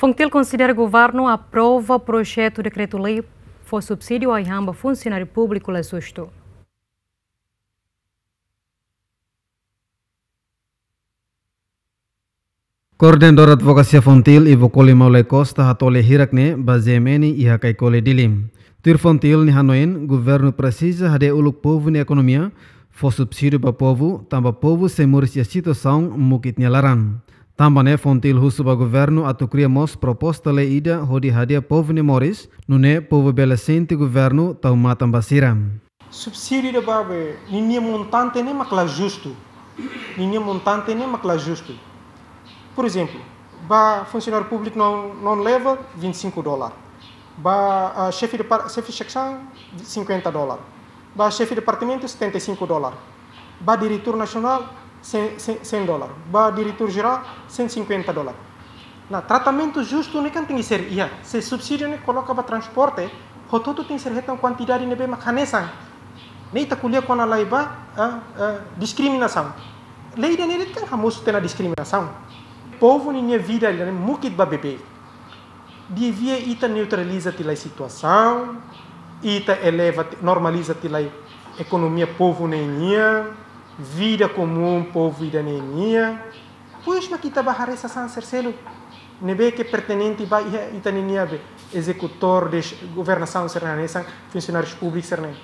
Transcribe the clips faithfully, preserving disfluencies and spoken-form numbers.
FONGTIL konsidera governu aprova projetu dekretu-lei fó subsídiu ai-han ba funsionáriu públiku la justu. Koordenadór Advokasia FONGTIL, Ivo Koli Maulay Costa, hato'o lia hirak ne'e ba G M N iha Caicoli, Dili. Tuir FONGTIL nia hanoin, governu presiza hadi'a uluk povu nia ekonomia, fó subsídiu ba povu, tanba povu sei moris iha situasaun mukit nia laran. Tanba ne'e FONGTIL husu ba governu atu kria mós proposta lei ida hodi hadi'a povu nia moris, nune'e povu bele sente governu tau matan ba sira. Subsídiu ida ba be, ninia montante ne'e mak la justu. Ninia montante ne'e mak la justu. Por exemplo, ba funsionáriu públiku non, non level, vinte e cinco dólar. Ba, ah, xefe de par-, xefe seksaun, cinquenta dólar. Ba xefe departamentu, setenta e cinco dólar. Ba diretór nasionál, cem, cem, cem dólar. Ba diretór jerál, cento e cinquenta dólar. Ne'e tratamentu justu ne'e kan tenke ser iha. Se subsídiu ne'e koloka ba transporte, hotu-hotu tenke ser hetan kuantidade ne'ebé mak hanesan. Ne'e ita ko'alia kona-ba, ah, ah, diskriminasaun. Lei ida-ne'e kan hamosu tiha ona diskriminasaun. Povu ninia vida ida-ne'e mukit ba beibeik. Devia ita neutraliza tiha lai situasaun, ita eleva ti-, normaliza tiha lai ekonomia povu ne'e nian, vida komún povu ida-ne'e nian. Depois mak ita bá haree sasán sira seluk ne'ebé ke pertenente ba iha ita ninia be ezekutór de governasaun sira-ne'e, hanesan funsionáriu públiku sira-ne'e.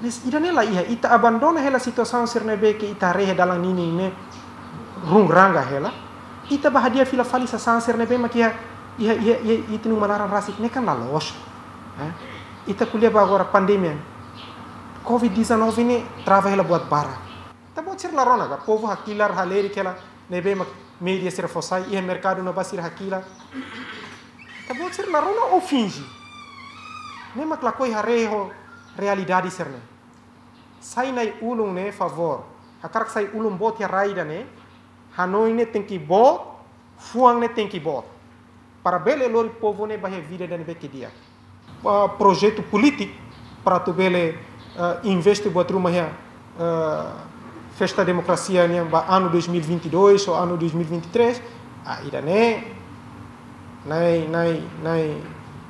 Mas ida-ne'e la iha, ita abandona hela situasaun sira ne'ebé ke ita haree dalan ninin ne'e run ranga hela. Ita bá hadi'a fila fali sasán sira ne'ebé mak iha, iha, iha, iha ita-nia uma laran rasik ne'e kan la loos. Eh? Ita ko'alia ba agora pandemia. Covid dezanove ne'e trava hela buat barak. Ita-boot sira la rona ka, povu hakilar, halerik hela, ne'ebé mak média sira fó sai, iha merkadu ne'ebá sira hakilar. Ita-boot sira la rona ou finje? Ne'e mak lakohi haree ho realidade sira-ne'e. Sai Na'i-Ulun ne'e favór. Hakarak sai ulun boot iha rai ida-ne'e, hanoin ne'e tenke boot, fuan ne'e tenke boot. Para bele lori povu ne'e ba iha vida ida ne'ebé ke di'ak. Ah, projetu polítiku para atu bele, ah, investe buat ruma iha, ah, festa demokrasia nian ba anu dois mil e vinte e dois ou anu dois mil e vinte e três. Ah, ida-ne'e, Na'i, Na'i, Na'i,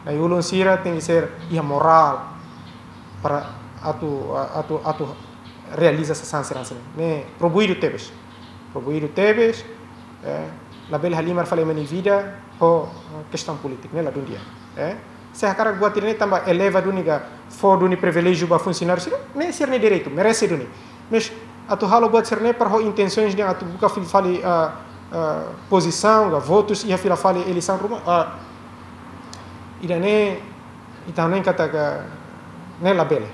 Na'i-Ulun sira tenke ser iha morál para atu, atu, atu realiza sasán sira hanesan ne'e. Ne'e proibidu tebes. Proibidu tebes, eh, labele halimar fali ema nia vida ho, eh, kestaun polítiku, ne'e ladún di'ak, eh. Se hakarak buat ida-ne'e tanba eleva duni ka fó duni priviléjiu ba funsionáriu sira, ne'e sira-nia direitu, merese duni. Mas atu halo buat sira-ne'e para ho intensoens de atu buka fila fali, ah, ah, pozisaun ka votus iha fila fali eleisaun ruma, ah, ida-ne'e ita hanoin katak ne'e labele.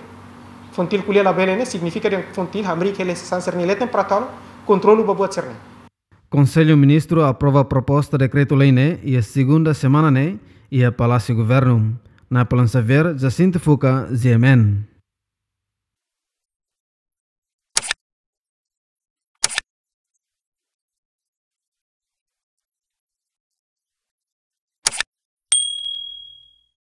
FONGTIL ko'alia labele ne'e signifika dehan FONGTIL hamriik hela sasán sira-ne'e leten para atu halo kontrolu ba buat sira-ne'e. Konsellu Ministru aprova proposta dekretu-lei ne'e iha segunda semana ne'e iha Palásiu Governu. Napoleon Xavier, Jacinto Fuca, G M N.